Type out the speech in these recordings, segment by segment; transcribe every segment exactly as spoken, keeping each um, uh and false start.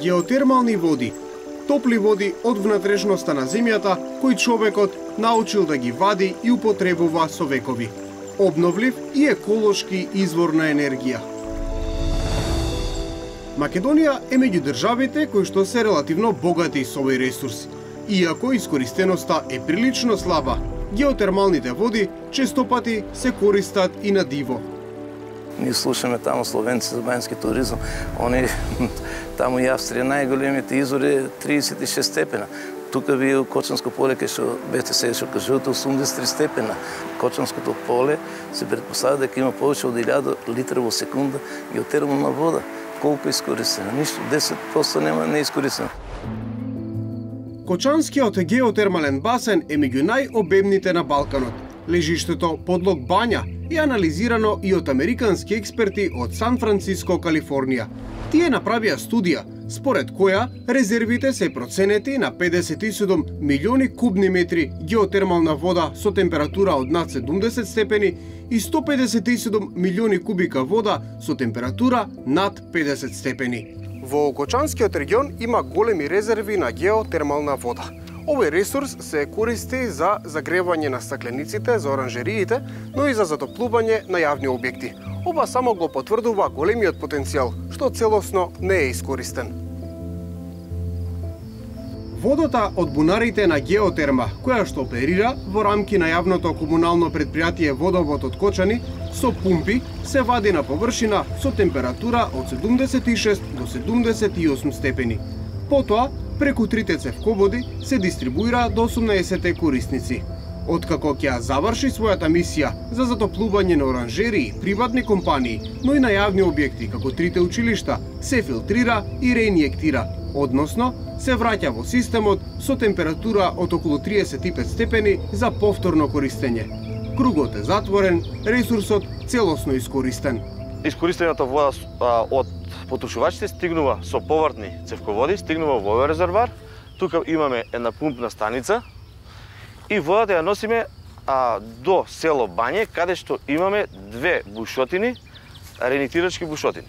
Геотермални води. Топли води од внатрешноста на земјата кои човекот научил да ги вади и употребува со векови. Обновлив и еколошки извор на енергија. Македонија е меѓу државите кои што се релативно богати со овој ресурс. Иако искористеноста е прилично слаба, геотермалните води честопати се користат и на диво. Ние слушаме таму словенци за банјски туризам. Они таму и Австрија најголемите извори триесет и шест степена. Тука вие у Кочанско поле кај што бете се што кажувате осумдесет и три степена. Кочанското поле се претпоставува дека има повеќе од илјада литра во секунда геотермална вода. Колку искористена? Ништо, десет проценти нема неискористено. Кочанскиот геотермален басен е меѓу најобемните на Балканот. Лежиштето подлог бања е анализирано и од американски експерти од Сан Франциско, Калифорнија. Тие направија студија, според која резервите се проценети на педесет и седум милиони кубни метри геотермална вода со температура од над седумдесет степени и сто педесет и седум милиони кубика вода со температура над педесет степени. Во Кочанскиот регион има големи резерви на геотермална вода. Овој ресурс се користи за загревање на стаклениците за оранжериите, но и за затоплување на јавни објекти. Ова само го потврдува големиот потенцијал, што целосно не е искористен. Водата од бунарите на Геотерма, која што оперира во рамки на јавното комунално предпријатие Водовод од Кочани, со пумпи се вади на површина со температура од седумдесет и шест до седумдесет и осум степени. Потоа, преку трите цевководи се дистрибуира до осумнаесет корисници. Откако ќе заврши својата мисија за затоплување на оранжерии, приватни компании, но и на јавни објекти, како трите училишта, се филтрира и реинјектира, односно се враќа во системот со температура од околу триесет и пет степени за повторно користење. Кругот е затворен, ресурсот целосно искористен. Искористената вода од потрошувачите стигнува со повртни цевководи, стигнува во овој резервар. Тука имаме една пумпна станица и водата ја носиме а, до село Бање, каде што имаме две бушотини, реинјектирачки бушотини.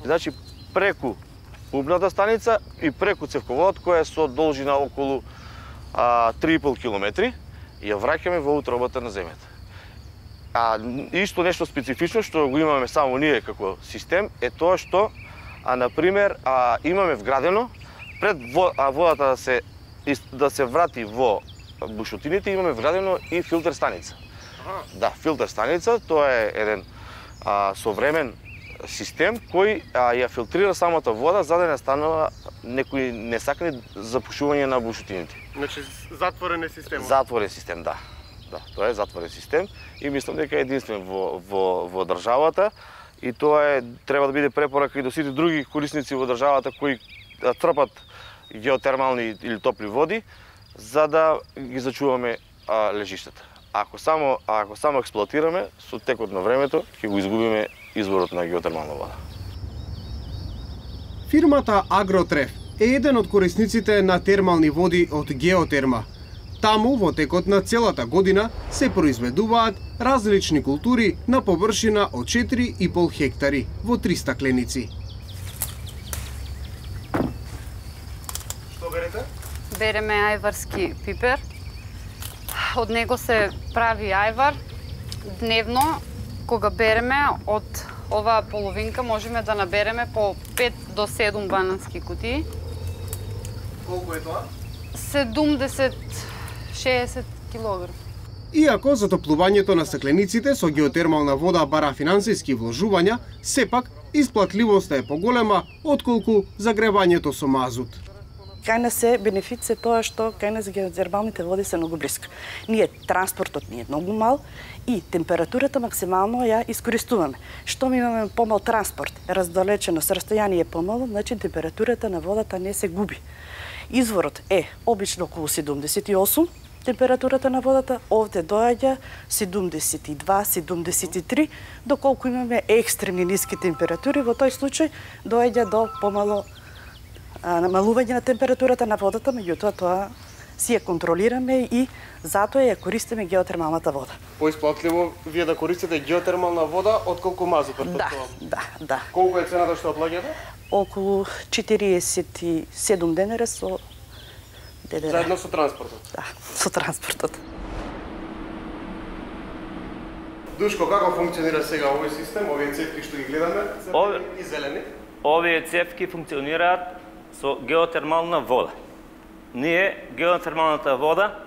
Значи, преку пумпната станица и преку цевководот, која е со должина околу а, три и пол километри, ја враќаме во утробата на земјата. А исто нешто специфично што го имаме само ние како систем е тоа што, а например, а, имаме вградено пред водата да се да се врати во бушотините, имаме вградено и филтер станица. Ага. Да, филтер станица, тоа е еден а, современ систем кој а, ја филтрира самата вода за да не станува некои несакани запушување на бушотините. Значи затворен е системот. Затворен систем, да. Да, тоа е затворен систем и мислам дека е единствен во во во државата и тоа е треба да биде препорака и до сите други корисници во државата кои трпат геотермални или топли води за да ги зачуваме а, лежиштата. Ако само ако само експлоатираме, со текот на времето ќе го изгубиме изворот на геотермална вода. Фирмата Агротреф е еден од корисниците на термални води од Геотерма. Таму, во текот на целата година, се произведуваат различни култури на површина од четири и пол хектари во три стакленици. Што берете? Береме ајварски пипер. Од него се прави ајвар. Дневно, кога береме од оваа половинка, можеме да набереме по пет до седум банански кутии. Колку е тоа? седумдесет шеесет килограми. Иако затоплувањето на стаклениците со геотермална вода бара финансиски вложувања, сепак исплатливоста е поголема отколку загревањето со мазут. Кај нас е бенефит се тоа што кај нас геотермалните води се многу блиска. Ние транспортот ни е многу мал и температурата максимално ја искористуваме. Што ми имаме помал транспорт, раздалечено со растојание помало, значи температурата на водата не се губи. Изворот е обично околу седумдесет и осум температурата на водата, овде доаѓа седумдесет и два седумдесет и три, доколку имаме екстремни ниски температури, во тој случај доаѓа до помало а, намалување на температурата на водата, меѓутоа тоа си ја контролираме и затоа ја користиме геотермалната вода. Поисплатливо вие да користите геотермална вода отколку мазут, претпоставувам. Да, да, да. Колку е цената што плаќате? Околу четириесет и седум денара со ДДР. Заедно со транспортот? Да, со транспортот. Душко, како функционира сега овој систем, овие цевки што ги гледаме, Ове... и зелени? Овие цевки функционираат со геотермална вода. Ние геотермалната вода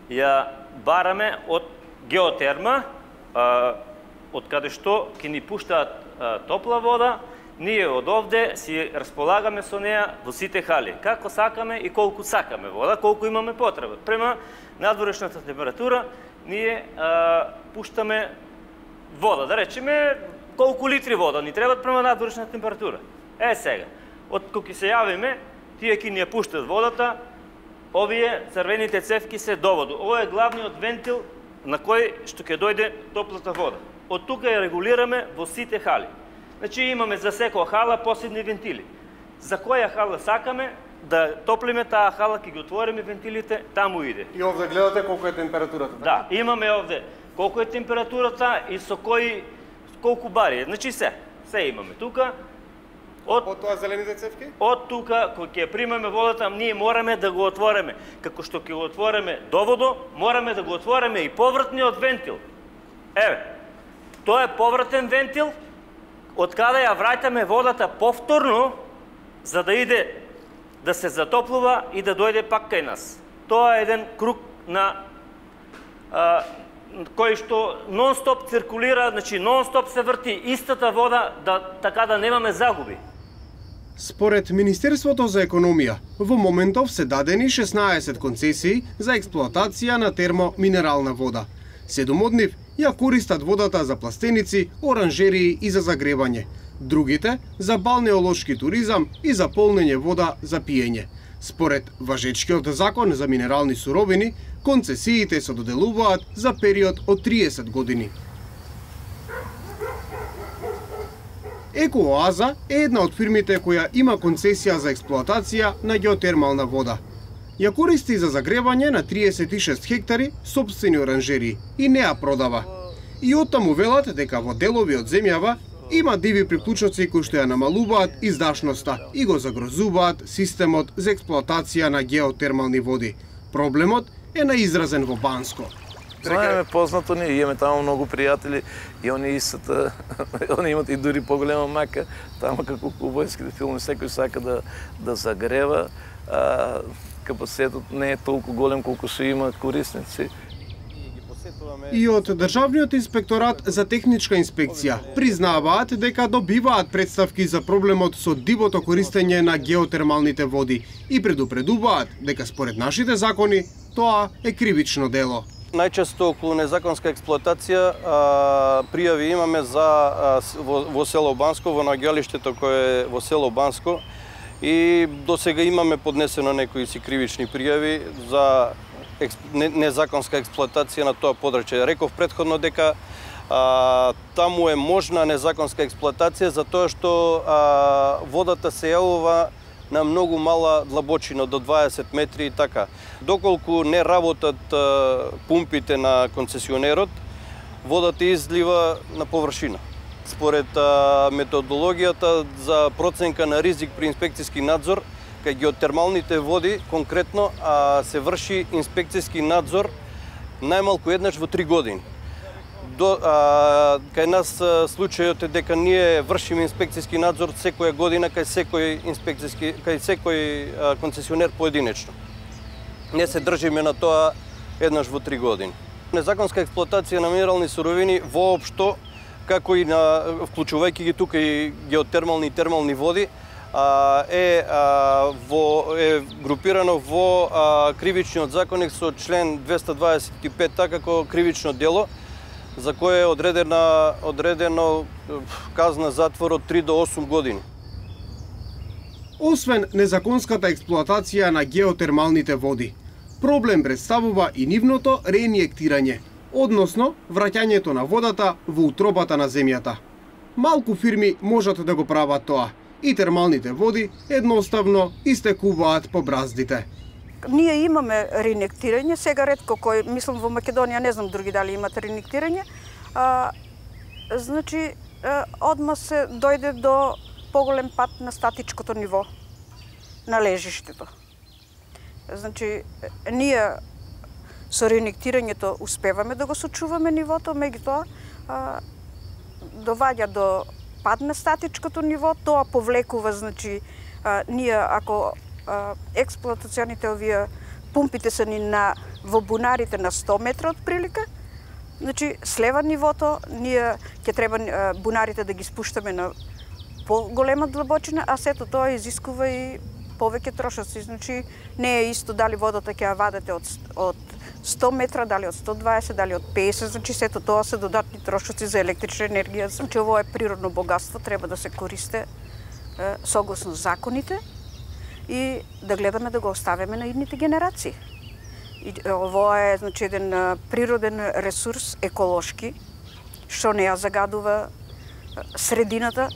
ја бараме од геотерма, а, од каде што ќе ни пуштаат а, топла вода, ние од овде си располагаме со неа во сите хали. Како сакаме и колку сакаме вода, колку имаме потреба. Према надворешната температура, ние а, пуштаме вода, да речеме колку литри вода ни требат према надворешна температура. Е сега, од кога се јавиме, тие ќе ни ја пуштат водата, овие црвените цевки се доводу. Ова е главниот вентил на кој што ќе дојде топлата вода. Од тука ја регулираме во сите хали. Значи имаме за секоја хала посебни вентили. За која хала сакаме да топлиме таа хала, ќе ги отвориме вентилите, таму иде. И овде гледате колку е температурата. Да, имаме овде колку е температурата и со кој колку бари. Значи се, се имаме тука. Од, од тоа зелените цевки? Од тука, кога ќе примеме водата, ние мораме да го отвориме. Како што ќе го отвориме доводо, мораме да го отвориме и повртниот вентил. Еве, тоа е повртен вентил, од каде ја враќаме водата повторно, за да иде да се затоплува и да дојде пак кај нас. Тоа е еден круг на а, кој што нон-стоп циркулира, значи нон-стоп се врти истата вода, да, така да немаме загуби. Според Министерството за економија, во моментов се дадени шеснаесет концесии за експлоатација на термоминерална вода. Седум од нив ја користат водата за пластеници, оранжерии и за загревање. Другите за балнеолошки туризам и за полнење вода за пиење. Според важечкиот закон за минерални суровини, концесиите се доделуваат за период од триесет години. Екооаза е една од фирмите која има концесија за експлоатација на геотермална вода. Ја користи за загревање на триесет и шест хектари сопствени оранжерии и не ја продава. И оттаму велат дека во делови од земјава има диви приклучоци кои што ја намалуваат издашноста и го загрозуваат системот за експлоатација на геотермални води. Проблемот е наизразен во Банско. Знаеме познато, ние имаме таму многу пријатели и они истата, они имат и дури поголема мака, таму како кубојските филми, секој сака да, да загрева, а, капацитетот не е толку голем колку што има корисници. И од Државниот инспекторат за техничка инспекција признаваат дека добиваат представки за проблемот со дивото користење на геотермалните води и предупредуваат дека според нашите закони тоа е кривично дело. Најчесто околу незаконска експлоатација а, пријави имаме за а, во, во село Банско, во наоѓалиштето кое е во село Банско, и до сега имаме поднесено некои си кривични пријави за експ, не, незаконска експлоатација на тоа подрачје. Реков претходно дека а, таму е можна незаконска експлоатација затоа што а, водата се јавува на многу мала длабочина, до дваесет метри и така. Доколку не работат а, пумпите на концесионерот, водата излива на површина. Според а, методологијата за проценка на ризик при инспекцијски надзор, кај геотермалните води конкретно а, се врши инспекцијски надзор најмалку еднаш во три години. До, а, кај нас а, случајот е дека ние вршиме инспекцијски надзор секоја година кај секој инспекцијски кај секој а, концесионер поединечно. Не се држиме на тоа еднаш во три години. Незаконска експлоатација на минерални суровини воопшто, како и на вклучувајќи ги тука и геотермални и термални води, а, е а, во е групирано во а, кривичниот законник со член двеста дваесет и пет како кривично дело, за кое е одредена, одредено казна затвор од три до осум години. Освен незаконската експлоатација на геотермалните води, проблем представува и нивното реинјектирање, односно враќањето на водата во утробата на земјата. Малку фирми можат да го прават тоа и термалните води едноставно истекуваат по браздите. ние имаме реинектирање, сега ретко кој, мислам во Македонија, не знам други дали имат реинектирање, а, значи, а, одма се дојде до поголем пат на статичкото ниво на лежиштето. Значи, ние со реинектирањето успеваме да го сочуваме нивото, меѓутоа доваѓа до пад на статичкото ниво, тоа повлекува, значи, а, ние ако а, експлоатационите овие пумпите се ни на во бунарите на сто метра од прилика, значи слева нивото, ние ќе треба а, бунарите да ги спуштаме на поголема длабочина, а сето тоа изискува и повеќе трошоци. Значи не е исто дали водата ќе ја вадете од, од сто метра, дали од сто дваесет, дали од песет, значи сето тоа се додатни трошоци за електрична енергија. Значи ово е природно богатство, треба да се користи е, согласно законите и да гледаме да го оставиме на идните генерации. И ово е, значи, еден е, природен ресурс, еколошки, што не ја загадува е, средината.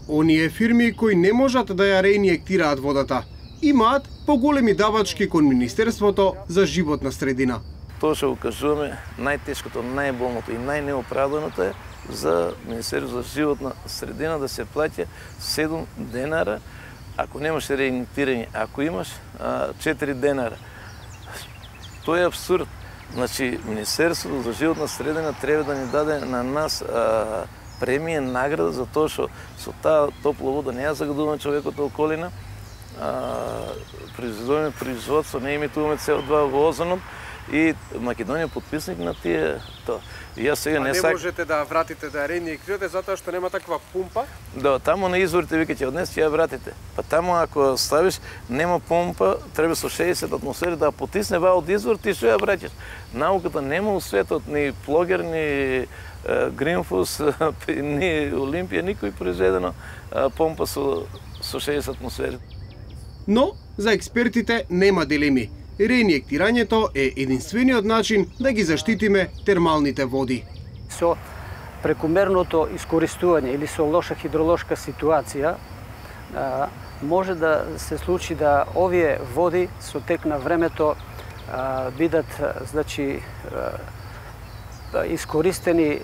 Оние фирми кои не можат да ја реинjектираат водата, имаат поголеми давачки кон Министерството за животна средина. Тоа што го кажуваме, најтешкото, најболното и најнеоправданото е за Министерството за животна средина да се плаќа седум денара, ако немаш реинjектирање, ако имаш четири денара. Тоа е абсурд. Значи, Министерството за животна средина треба да ни даде на нас а, премија, награда за тоа што со таа топла вода не ја загадуваме човекот околина, произведуваме производство, не емитуваме С О два во озонот и Македонија подписник на тие тоа. И јас сега а не не сак... можете да вратите да реинjектирате затоа што нема таква пумпа? Да, таму на изворите вика ќе однес ќе ја вратите. Па таму ако ставиш нема помпа, треба со шеесет атмосфери да потисне ва од извор, ти што ја враќаш. Науката нема у светот ни Плогер, ни Гринфус, ни Олимпија, никој произведено помпа со со шеесет атмосфери. Но за експертите нема дилеми. Реинjектирањето е единствениот начин да ги заштитиме термалните води. Со прекумерното искористување или со лоша хидролошка ситуација може да се случи да овие води со тек на времето бидат, значи, искористени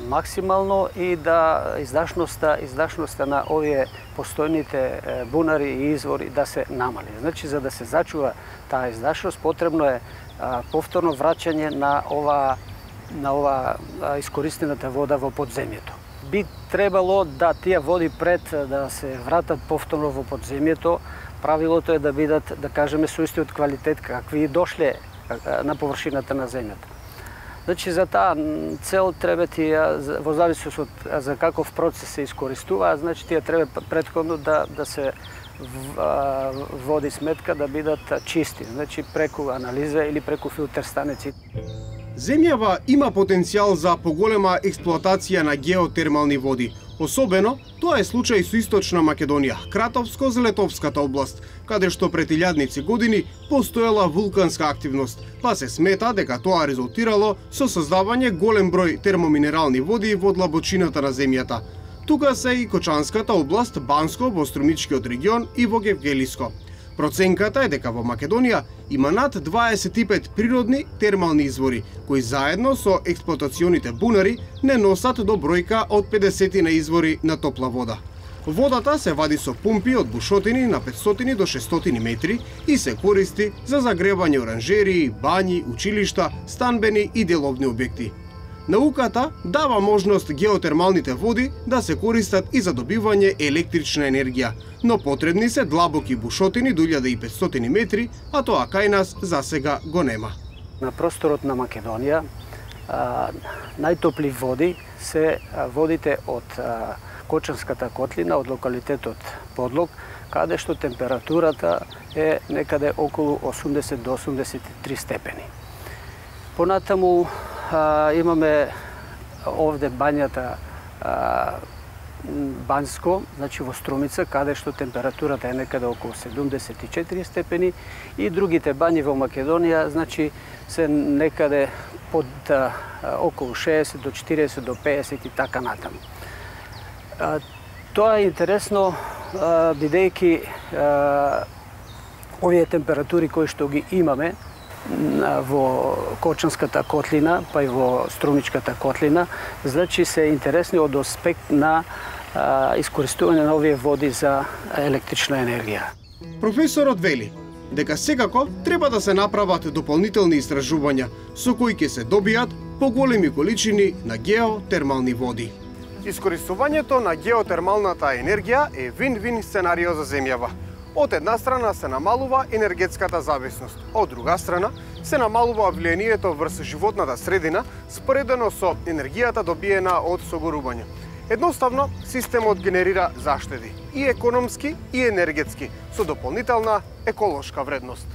максимално и да издашноста, издашноста на овие постојните бунари и извори да се намали. Значи, за да се зачува таа издашност, потребно е повторно враќање на ова на ова искористената вода во подземјето. Би требало да тие води пред да се вратат повторно во подземјето, правилото е да бидат, да кажеме, со истиот квалитет какви дошле на површината на земјата. Значи, за таа цел треба тие, во зависност од за каков процес се искористуваат, значи тие треба претходно да, да се води сметка да бидат чисти, значи преку анализа или преку филтер станици. Земјава има потенцијал за поголема експлоатација на геотермални води. Особено, тоа е случај со Источна Македонија, Кратовско-Злетовската област, каде што пред илјадници години постоела вулканска активност, па се смета дека тоа резултирало со создавање голем број термоминерални води во длабочината на земјата. Тука се и Кочанската област, Банско во Струмичкиот регион и во Гевгелиско. Проценката е дека во Македонија има над дваесет и пет природни термални извори, кои заедно со експлоатационите бунари не носат до бројка од педесет на извори на топла вода. Водата се вади со пумпи од бушотини на петстотини до шестстотини метри и се користи за загревање оранжерии, бањи, училишта, станбени и деловни објекти. Науката дава можност геотермалните води да се користат и за добивање електрична енергија, но потребни се длабоки бушотини до илјада и петстотини метри, а тоа кај нас засега го нема. На просторот на Македонија а, најтопли води се водите од а, Кочанската котлина, од локалитетот Подлог, каде што температурата е некаде околу осумдесет до осумдесет и три степени. Понатаму а, имаме овде бањата а, Банско, значи во Струмица, каде што температурата е некаде околу седумдесет и четири степени, и другите бањи во Македонија, значи се некаде под а, околу шеесет до четириесет до пеесет и така натаму. А, тоа е интересно, а, бидејќи а, овие температури кои што ги имаме во Корчанската котлина, па и во Струмичката котлина, значи се интересни од аспект на а, искористување на овие води за електрична енергија. Професорот вели дека секако треба да се направат дополнителни истражувања со кои ќе се добијат поголеми количини на геотермални води. Искористувањето на геотермалната енергија е вин-вин сценарио за земјава. Од една страна се намалува енергетската зависност, од друга страна се намалува влијанието врз животната средина споредено со енергијата добиена од согорување. Едноставно, системот генерира заштеди и економски и енергетски со дополнителна еколошка вредност.